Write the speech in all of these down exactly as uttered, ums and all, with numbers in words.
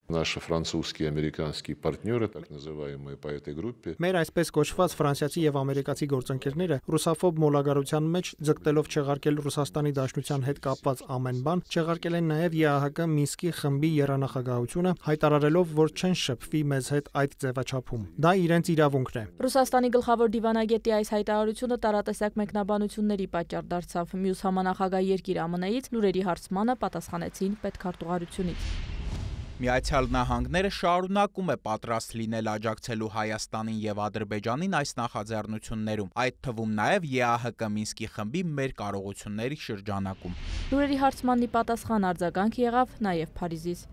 Наши французские и американские партнеры, так называемые по этой группе. Մեր այսպես կոչված ֆրանսիացի եւ ամերիկացի գործընկերները ռուսաֆոբ մոլագարության մեջ ձգտելով չեղարկել Ռուսաստանի Դաշնության հետ կապված ամեն բան, չեղարկել են նաեւ ԵԱՀԿ Մինսկի խմբի երանախագահությունը, հայտարարելով, որ չեն շփվի մեզ հետ այդ ձևաչափում։ Դա իրենց իրավունքն է։ Ռուսաստանի գլխավոր դիվանագետի այս հայտարարությունը տարատեսակ մեկնաբանությունների պատճառ դարձավ։ Մյուս համանախագահ երկիր ԱՄՆ-ից լուրերի հարցմանը պատասխանեցին պետքարտուղարությունից։ Միացյալ Նահանգները շարունակում է պատրաստ լինել աջակցելու Հայաստանին եւ Ադրբեջանին այս նախաձեռնություններում, այդ թվում նաեւ ԵԱՀԿ Մինսկի խմբի մեր կարողությունների շրջանակում։ Լուրերի հարցմանն ի պատասխան արձագանք եղավ նաեւ Փարիզից։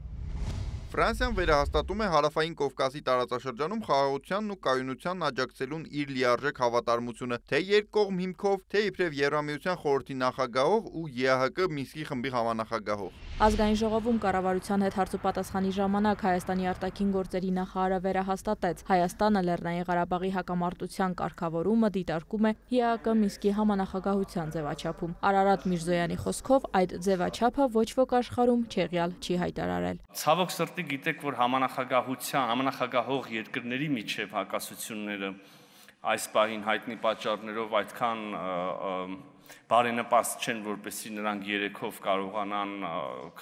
Ֆրանսիան վերահաստատում է Հարավային Կովկասի տարածաշրջանում խաղաղությանն ու կայունությանն աջակցելուն իր լիարժեք հավատարմությունը, թե երկկողմ հիմքով, թե իբրև Եվրամիության խորհրդի նախագահող ու ԵԱՀԿ Մինսկի խմբի համանախագահող։ Ազգային ժողովում կառավարության հետ հարցուպատասխանի ժամանակ Հայաստանի արտաքին գործերի նախարարը վերահաստատեց, Հայաստանը Լեռնային Ղարաբաղի հակամարտության կարգավորումը դիտարկում է ԵԱՀԿ Մինսկի համանախագահության ձևաչափում։ Արարատ Միրզոյանի խոսքով այդ ձևաչափը ոչ ոք աշխարհում չեղյալ չի հայտարարել։ Ցավոք սրտի գիտեք, որ համանախագահության, համանախագահող երկրների միջև հակասությունները այս պահին հայտնի պատճառներով այդքան բարենպաստ չեն, որպեսզի նրանք երեքով կարողանան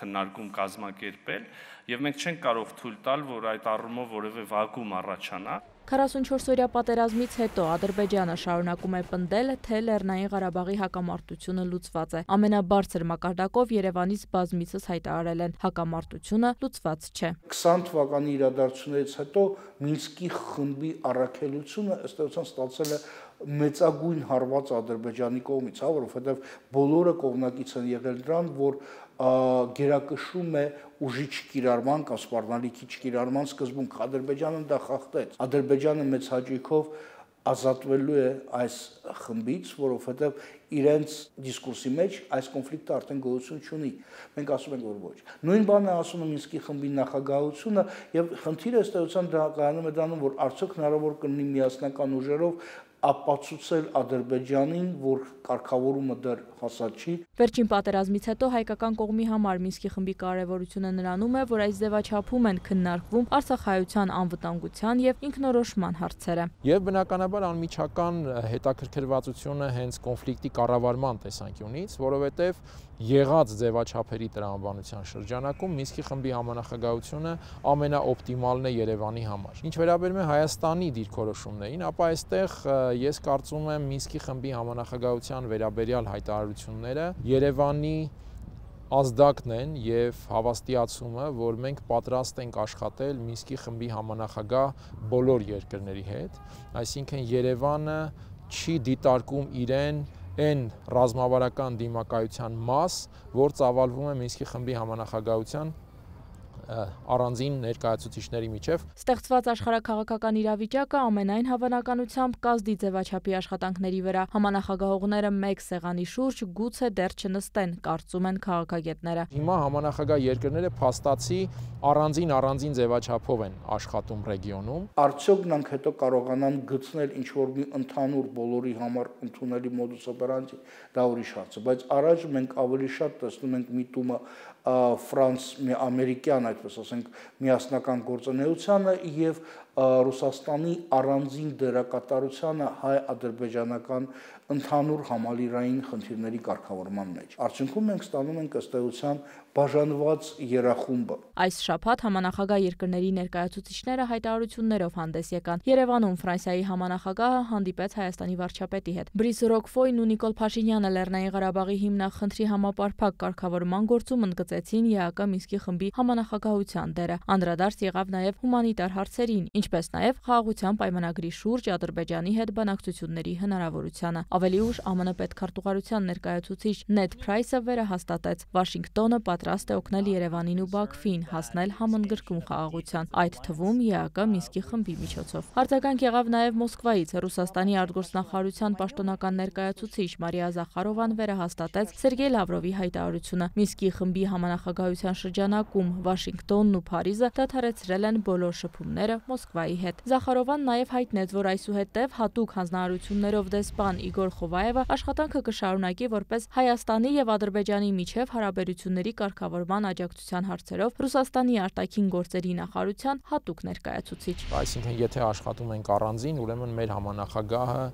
քննարկում կազմակերպել, եւ մենք չենք կարող թույլ տալ, որ այդ առումով որևէ վակուում առաջանա։ քառասունչորս օրյա պատերազմից հետո Ադրբեջանը շարունակում է պնդել, թե Լեռնային Ղարաբաղի հակամարտությունը լուծված է։ Ամենաբարձր մակարդակով Երևանից բազմիցս հայտարարել են, հակամարտությունը լուծված չէ։ քսան թվականի իրադարձություններից հետո Մինսկի խմբի առաքելությունը ըստ էության ստացել է մեծագույն հարված Ադրբեջանի կողմից, հա, որովհետև բոլորը կողմնակից են եղել դրան, որ գերակշռում է ուժի չկիրառման կամ սպառնալիքի չկիրառման սկզբունք։ Ադրբեջանը դա խախտեց։ Ադրբեջանը մեծ հաճույքով ազատվելու է այս խմբից, որովհետև իրենց դիսկուրսի մեջ այս կոնֆլիկտը արդեն գոյություն չունի։ Մենք ասում ենք, որ ոչ։ Նույն բանն է ասում է Մինսկի խմբի նախագահությունը, եւ խնդիրը ըստ էության դա կայանում է դառնում, որ արդյոք հնարավոր կլինի միասնական ուժերով ապացուցել Ադրբեջանին, որ կարգավորումը դեռ հասած չի։ Վերջին պատերազմից հետո հայկական կողմի համար Մինսկի խմբի կարևորությունը նրանում է, որ այս ձևաչափում են քննարկվում արցախայության անվտանգության եւ ինքնորոշման հարցերը։ Եվ բնականաբար անմիջական հետաքրքրվածությունը հենց կոնֆլիկտի կառավարման տեսանկյունից, որովհետեւ եղած ձևաչափերի տրամաբանության շրջանակում Մինսկի խմբի համանախագահությունը ամենաօպտիմալն է Երևանի համար։ Ինչ վերաբերում է Հայաստանի դիրքորոշումներին, ապա այստեղ ես կարծում եմ Մինսկի խմբի համանախագահության վերաբերյալ հայտարարությունները Երևանի ազդակն են եւ հավաստիացումը, որ մենք պատրաստ ենք աշխատել Մինսկի խմբի համանախագահ բոլոր երկրների հետ, այսինքն Երևանը չի դիտարկում իրեն այն ռազմավարական դիմակայության մաս, որ ծավալվում է Մինսկի խմբի համանախագահության առանձին ներկայացուցիչների միջև։ Ստեղծված աշխարհաքաղաքական իրավիճակը ամենայն հավանականությամբ կազդի ձևաչափի աշխատանքների վրա։ Համանախագահողները մեկ սեղանի շուրջ գուցե դեռ չնստեն, կարծում են քաղաքագետները։ Հիմա համանախագահ երկրները փաստացի առանձին առանձին ձևաչափով են աշխատում ռեգիոնում։ Արդյոք նրանք հետո կարողանան գտնել ինչ-որ մի ընդհանուր բոլորի համար ընդունելի մոդուս օպերանտի, դա ուրիշ հարց է, բայց առաջ մենք ավելի շատ տեսնում ենք միտումը ֆրանս-ամերիկյան, այդպես ասենք, միասնական գործունեությանը եւ Ռուսաստանի առանձին դերակատարությանը հայ-ադրբեջանական ընդհանուր համալիրային խնդիրների կարգավորման մեջ։ Արդյունքում մենք ստանում ենք ըստ էության բաժանված երախումբը։ Այս շաբաթ համանախագահ երկրների ներկայացուցիչները հայտարարություններով հանդես եկան։ Երևանում Ֆրանսիայի համանախագահը հանդիպեց Հայաստանի վարչապետի հետ։ Բրիս Ռոկֆոյն ու Նիկոլ Փաշինյանը Լեռնային Ղարաբաղի հիմնախնդրի համապարփակ կարգավորման գործում ընդգծեցին ԵԱՀԿ Մինսկի խմբի համանախագահության դերը։ Անդրադարձ եղավ նաև հումանիտար հարցերին, ինչպես նաև խաղաղության պայմանագրի շուրջ Ադրբեջանի հետ բանակցությունների հնարավորությանը։ Ավելի ուշ ԱՄՆ պետքարտուղարության ներկայացուցիչ Նեդ Փրայսը վերահաստատեց, Վաշինգտոնը պատրաստ է օգնել Երևանին ու Բաքվին հասնել համընդգրկուն խաղաղության, այդ թվում ԵԱՀԿ Մինսկի խմբի միջոցով։ Արձագանք եղավ նաև Մոսկվայից։ Ռուսաստանի արտգործնախարարության պաշտոնական ներկայացուցիչ Մարիա Զախարովան վերահաստատեց Սերգեյ Լավրովի հայտարարությունը։ Մինսկի խմբի համանախագահության շրջանակում Վաշինգտոնն ու Փարիզը դադարեցրել են բոլոր շփումները Մոսկվայի հետ։ Զախարովան նաև հայտնեց, որ այսուհետև հատուկ հանձնարարություններով դեսպան Իգոր Խովայևը աշխատանքը կշարունակի որպես Հայաստանի եւ Ադրբեջանի միջև հարաբերությունների կարգավորման աջակցության հարցերով Ռուսաստանի արտաքին գործերի նախարարության հատուկ ներկայացուցիչ։ Այսինքն, եթե աշխատում ենք առանձին, ուրեմն մեր համանախագահը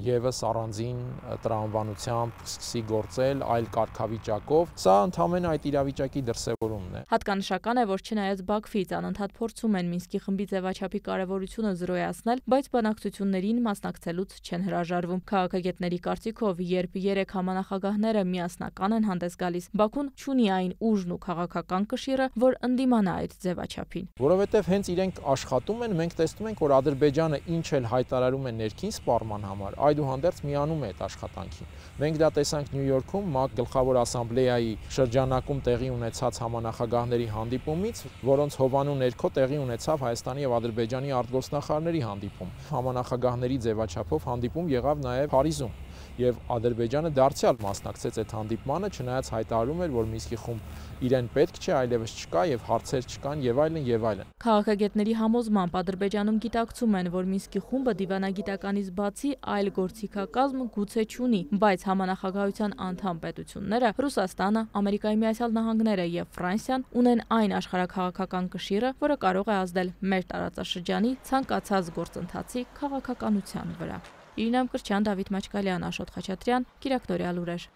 եւս առանձին տրամաբանությամբ սկսի գործել այլ կարգավիճակով, սա ընդհանրապես այդ իրավիճակի դրսևորումն է։ Հատկանշական է, որ չնայած Բաքվից անընդհատ փորձում են Մինսկի խմբի ձևաչափի կարևորությունը զրոյացնել, բայց բանակցություններին մասնակցելուց չեն հրաժարվում։ Քաղաքագետների կարծիքով, երբ երեք համանախագահները միասնական են հանդես գալիս, Բաքուն չունի այն ուժն ու քաղաքական կշիռը, որ ընդդիմանա այդ ձևաչափին։ Որովհետև հենց իրենք աշխատում են, մենք տեսնում ենք, որ Ադրբեջանը ինչ էլ հայտարարում է ներքին սպառման համար, այդուհանդերձ միանում է այդ աշխատանքին։ Մենք դա տեսանք Նյու Յորքում ՄԱԿ գլխավոր ասամբլեայի շրջանակում տեղի ունեցած համանախագահների հանդիպումից, որոնց հովանու ներքո տեղի ունեցավ Հայաստանի եւ Ադրբեջանի արտգործնախարարների հանդիպում։ Համանախագահների ձևաչափով հանդիպում եղավ նաեւ Փարիզում, եւ Ադրբեջանը դարձյալ մասնակցեց այդ հանդիպմանը, չնայած հայտարարում էր, որ Մինսկի խումբ իրեն պետք չէ, այլևս չկա եւ հարցեր չկան եւ այլն եւ այլն։ Քաղաքագետների համոզմամբ Ադրբեջանում գիտակցում են, որ Մինսկի խումբը դիվանագիտականից բացի այլ գործիքակազմ գուցե չունի, բայց համանախագահության անդամ պետությունները Ռուսաստանը, Ամերիկայի Միացյալ Նահանգները եւ Ֆրանսիան ունեն այն աշխարհաքաղաքական կշիռը, որը կարող է ազդել մեր տարածաշրջանի ցանկացած գործընթացի քաղաքականության վրա։ Իրինա Մկրտչյան, Դավիթ Մաչկալյան, Աշոտ Խաչատրյան, Կիրակտորյալ լուրեր։